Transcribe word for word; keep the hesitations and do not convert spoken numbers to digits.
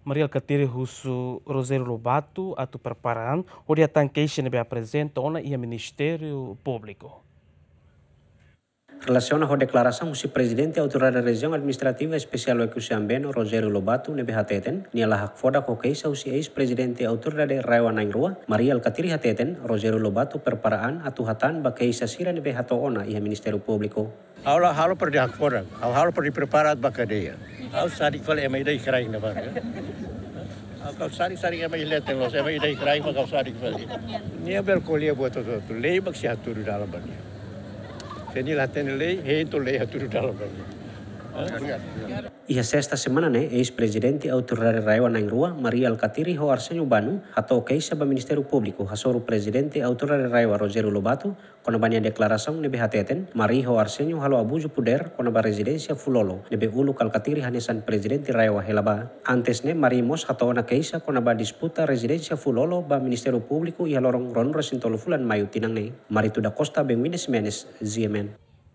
Mari Alkatiri husu Rogério Lobato atu prepara an hodi hatán keixa ne'ebé aprezenta ona iha Ministériu Públiku. Relasiona ho deklarasaun husi Prezidente Autoridade Rejiaun Administrativa Espesiál Oekusi Ambeno, Rogério Lobato, ne'ebé hateten nia la hakfodak ho keixa husi eis-prezidente Autoridade RAEOA na'in-rua, Mari Alkatiri, hateten Rogério Lobato prepara an atu hatán ba keixa sira ne'ebé hato'o ona iha Ministériu Públiku. Ha'u la halo para dehan hakfodak, ha'u halo para dehan prepara ba kadeia. Ha'u sadik fali ema ida iha kraik ne'ebá. Ha'u sadik, sadik ema iha leten loos, ema ida iha kraik mak ha'u sadik fali. Nia bele ko'alia buat hotu-hotu, lei mak sei hatudu dalan ba nia. Se nia la hatene lei, hein to'o lei hatudu dalan ba nia. Iha sesta semana ne'e, eis-prezidente Autoridade RAEOA na'in-rua, Mari Alkatiri ho Arsenio Bano, hato'o keixa ba Ministériu Públiku hasoru Prezidente Autoridade RAEOA, Rogério Lobato, kona-ba nia deklarasaun ne'ebé hateten Mari ho Arsenio halo abuzu podér kona-ba rezidénsia Fulolo, ne'ebé uluk Alkatiri hanesan Prezidente RAEOA hela bá. Antes ne'e, Mari mós hato'o ona keixa kona-ba disputa rezidénsia Fulolo ba Ministériu Públiku iha loron ruanulu-resin-tolu fulan Maiu tinan ne'e. Marito da Costa, Benvine Ximenes, G M N.